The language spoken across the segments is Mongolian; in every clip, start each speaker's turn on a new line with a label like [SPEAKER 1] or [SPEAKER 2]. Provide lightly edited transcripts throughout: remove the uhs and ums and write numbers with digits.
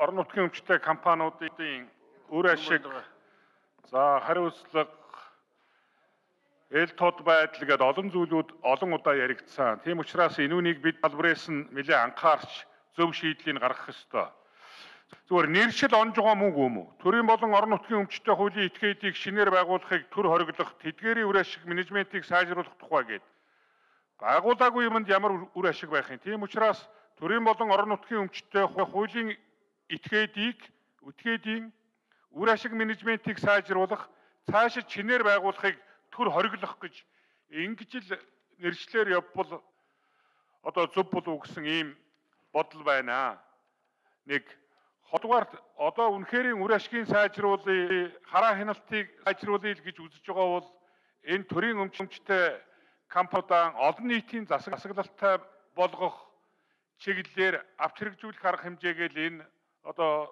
[SPEAKER 1] орон нутгийн өмчтэй компаниудын үр ашиг хариуцлага эл тод байдал гэдэг олон зүйлүүд олон удаа яригдсан. Тийм учраас энүүнийг бид салбараас нь нэлээд анхаарч зөв шийдлийг гаргах ёстой. Зүгээр нэршил онж байгаа мөнгө юм уу? Төрийн болон орон нутгийн өмчтэй хуулийн этгээдийг шинээр байгуулахыг төр хориглох, тэдгээрийн үр ашиг менежментийг сайжруулах тухай гээд байгуулаагүй юмд ямар үр ашиг байх юм. Тийм учраас төрийн болон орон нутгийн өмчтэй хуулийн этгээдийн үр ашиг менежментийг сайжруулах, цаашид шинээр байгуулахыг төр хориглох гэж ингэж л нэршлэр явбал одоо зөв болов гэсэн ийм бодол байна. Нэг хоёрдугаар одоо үнэхээр үр ашигын сайжруулалтыг хараа хяналтыг сайжруулъя гэж үзэж байгаа бол энэ төрийн өмчтэй компаниудаа олон нийтийн засаглалтай болгох чиглэлээр авч хэрэгжүүлэх арга хэмжээгээл энэ одоо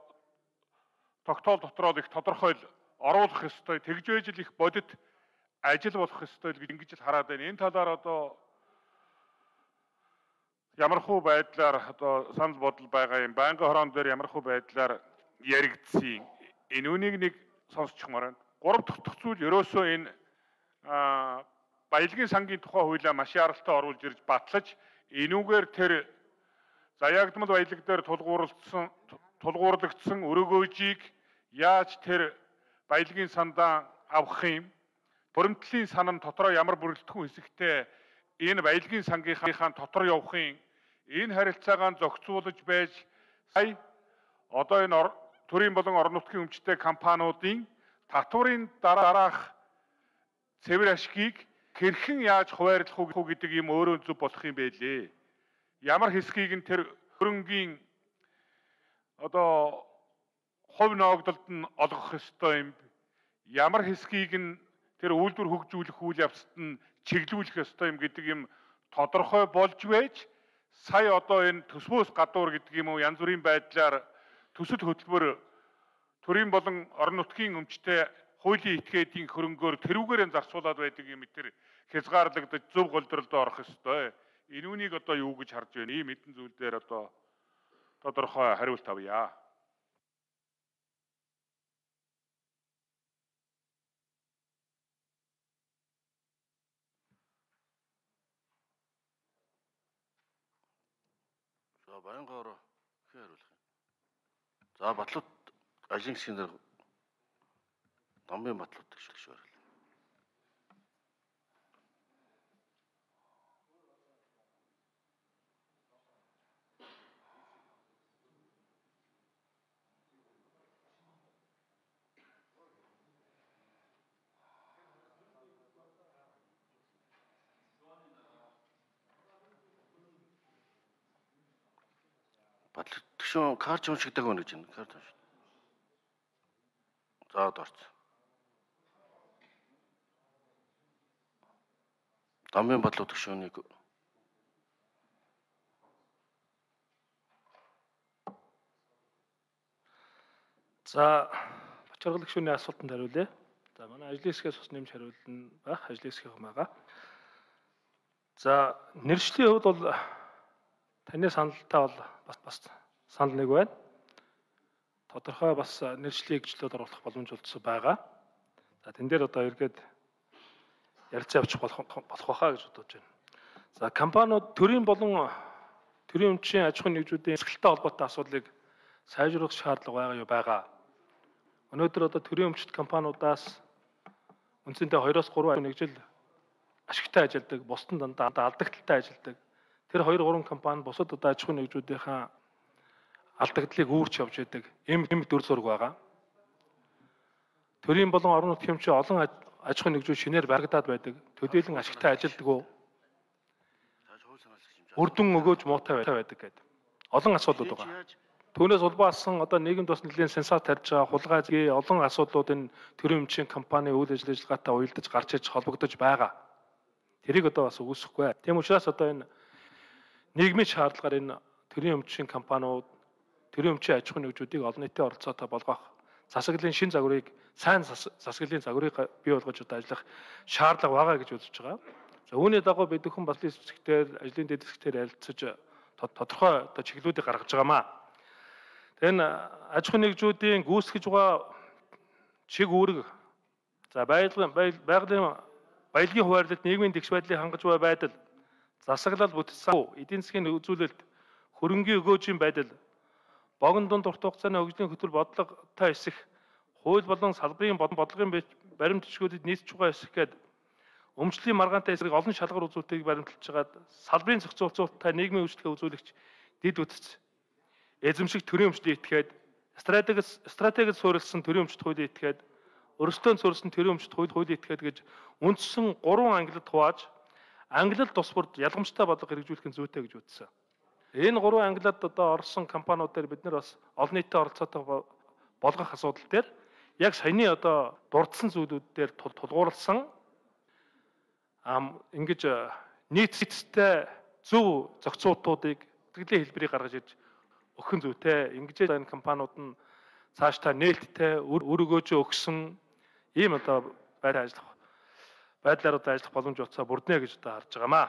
[SPEAKER 1] тогтоол дотроо их тодорхой оруулах ёстой. Тэгж байж л их бодит ажил болох ёстой гэж ингэж л хараад байна. Энэ талаар одоо ямархуу байдлаар одоо санал бодол байгаа юм. Байнгын хороон дээр ямархуу байдлаар яригдсан. Энэ үнийг нэг сонсчихмаар байна. Гурав дахь зүйл ерөөсөө энэ баялагын сангийн тухай хуулиа маш яралтай оруулж ирж батлаж энүүгээр тэр заягдмал баялаг дээр тулгуурлагдсан өрөөгөөжийг яаж тэр баялагын сандаа авах юм? Боромтлын сан нь дотроо ямар бүрэлдэхүүн хэсэгтэй энэ баялагын сангийнхаа дотор явахын энэ харилцаагаа зохицуулж байж сая одоо энэ төрийн болон орон нутгийн өмчтэй компаниудын татварын дараах цэвэр ашгийг хэрхэн яаж хуваарлах уу гэдэг юм өөрөө зөв болох юм байлээ. Ямар хэсгийг нь тэр хөрөнгийн одоо хувь ногдолд нь олгох ёстой юм. Ямар хэсгийг нь тэр үйлдвэр хөгжүүлэх үйл явцад нь чиглүүлэх ёстой юм гэдэг юм тодорхой болж байж сая одоо энэ төсвөөс гадуур гэдэг юм уу янз бүрийн байдлаар төсөл хөтөлбөр төрийн болон орон нутгийн өмчтэй хуулийн этгээдийн хөрөнгөөр тэрүүгээр зарцуулаад байдаг юм тэр хязгаарлагдаж зөв голдролд орох ёстой. Энүүнийг одоо юу гэж харж байна? Ийм хэдэн зүйл дээр одоо тодорхой хариулт авъя.
[SPEAKER 2] За Баянгоор хариулах юм. За Батлууд ажлын хэсгийн дээр Дамбын Батлууд гэж хариулна. Батлууд төшөө карт уншигдаг байна гэж байна. Карт унш. За дорц. Дамбын Батлууд төшөөнийг
[SPEAKER 3] за Бачаргал гишүүний асуултанд хариулъя. За манай ажлын хэсгээс бас нэмж хариулна байх ажлын хэсгийн байгаа. За нэршлийн хувьд бол таны саналтай бол бас санал нэг байна. Тодорхой бас нэршлийг гжлүүд оруулах боломж олдсон байгаа. За тэн дээр одоо эргээд ярилцаа явуучих болох байхаа гэж бодож байна. За компаниуд төрийн болон төрийн өмчийн аж ахуйн нэгжүүдийн эсгэлтэй холбоотой асуудлыг сайжруулах шаардлага байгаа. Өнөөдөр одоо төрийн өмчт компаниудаас үндсэндээ 2-3 нэгжил ашигтай ажилладаг, бусдын дандаа алдагдaltaй ажилладаг. Тэр 2-3 компани бусад одоо аж ахуйн нэгжүүдийнхаа алдагдлыг үүрч явж байдаг. Им дүр зураг байгаа. Төрийн болон орон нутгийн өмчийн олон аж ахуйн нэгжүүд шинээр баригдаад байдаг. Төдийлөн ашигтай ажилладаг уу? Үрдэн өгөөж муутай байдаг гэдэг. Олон асуудлууд байгаа. Түүнээс улбаасан одоо нийгэмд бас нэлийн сенсац тарьж байгаа хулгай олон асуудлууд энэ төрийн өмчийн компани үйл ажиллагаатай уялдаж гарч иж холбогдож байгаа. Тэрийг одоо бас үүсэхгүй. Тийм учраас одоо энэ нийгмийн шаардлагаар энэ төрийн өмчийн компаниуд төрийн өмчийн аж ахуйн нэгжүүдийг олон нийтийн оролцоотой болгох засаглалын шин загварыг сайн засаглалын загварыг бий болгож одоо ажиллах шаардлага байгаа гэж үзэж байгаа. За үүний дагуу бид бүхэн бас хэсэгтэр ажлын дэд хэсэгтэр ярилцаж тодорхой одоо чиглэлүүдийг гаргаж байгаамаа. Энэ аж ахуйн нэгжүүдийн гүйцэтгэж байгаа чиг үүрэг за байгалийн хуваарлалт нийгмийн тэгш байдлыг хангаж буй байдал засаглал бүтцсэн эдийн засгийн үзүүлэлт хөрөнгийн өгөөжийн байдал богино дунд урт хугацааны хөгжлийн хөтөл бодлоготой эсэх хууль болон салбарын бодлогын баримт бичгүүдэд нийцж байгаа эсэх гээд өмчлөлийн маргаантай эсрэг олон шалгар үзүүлэлтийг баримталж хагаад салбарын зохицуулалттай нийгмийн үйлчлэгээ үзүүлэгч дид үтц эзэмших төрийн өмчлөгийг этгээд стратегид суурилсан төрийн өмчт хуулийг этгээд өрсөлдөөн суурилсан төрийн өмчт хуулийг этгээд гэж үндсэн 3 ангилалд хувааж ангилал тус бүрд ялгамжтай бодлого хэрэгжүүлэх нь зүйтэй гэж үзсэн. Энэ 3 ангилалд одоо орсон компаниудаар бид нар бас олон нийтийн оролцоотой болгох асуудал дээр яг саяны одоо дурдсан зүйлүүд дээр тулгуурласан ингэж нийцтэй зөв зохицуултуудыг сэтгэлийн хэлбэрийг гаргаж ирж өгөх нь зүйтэй. Ингэж энэ компаниуд нь цаашдаа нээлттэй үр өгөөжөө өгсөн ийм одоо байдлаар одоо ажиллах боломж олцоо бүрднэ гэж одоо харж байгаамаа.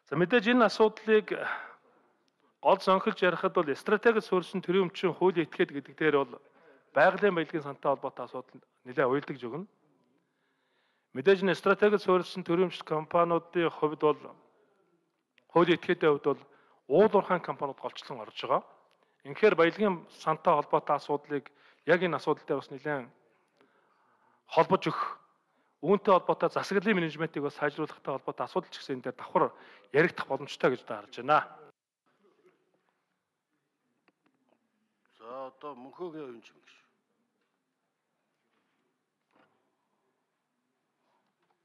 [SPEAKER 3] За мэдээж энэ асуудлыг гол зонхилж ярихад бол стратегид суурилсан төрийн өмчийн хуулийн этгээд гэдэг дээр бол байгалийн баялагын сантай холбоотой асуудал нэлээд уялдаж өгнө. Мэдээж энэ стратегид суурилсан төрийн өмчт компаниудын хувьд бол хуулийн этгээдийн хувьд бол уулуурхайн компаниуд голчлон орж байгаа. Инхээр баялагын сантай холбоотой асуудлыг яг энэ асуудал дээр бас нэлээд холбож өгөх үүнтэй холбоотой засаглалын менежментийг бас сайжруулахтай холбоотой асуудал ч гэсэн энэ дээр давхар яригдах боломжтой гэж харж байна.
[SPEAKER 2] За одоо мөнхөөгийн оюун чим гэж.